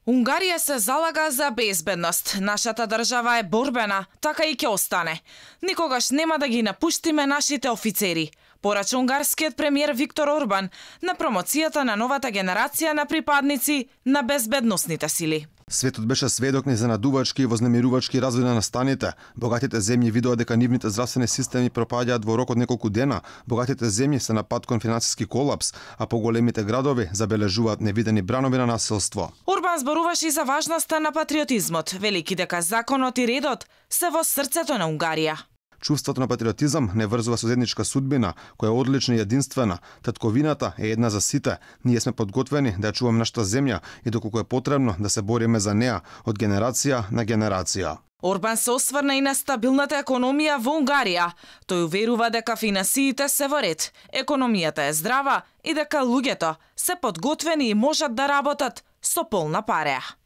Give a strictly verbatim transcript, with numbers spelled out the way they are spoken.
Унгарија се залага за безбедност. Нашата држава е борбена, така и ќе остане. Никогаш нема да ги напуштиме нашите офицери, порача унгарскиот премиер Виктор Орбан на промоцијата на новата генерација на припадници на безбедносните сили. Светот беше сведок на изненадувачки и вознемирувачки развој на настаните. Богатите земји видоа дека нивните здравствени системи пропаѓаат во рок од неколку дена. Богатите земји се на пат кон финансиски колапс, а поголемите градови забележуваат невидени бранови на насилство. Орбан зборуваше и за важноста на патриотизмот, велики дека законот и редот се во срцето на Унгарија. Чувството на патриотизам не врзува со заедничка судбина, која е одлична и единствена. Татковината е една за сите. Ние сме подготвени да ја чуваме нашата земја и доколку е потребно да се бориме за неа од генерација на генерација. Орбан се осврна и на стабилната економија во Унгарија. Тој уверува дека финансиите се во ред, економијата е здрава и дека луѓето се подготвени и можат да работат со полна пареа.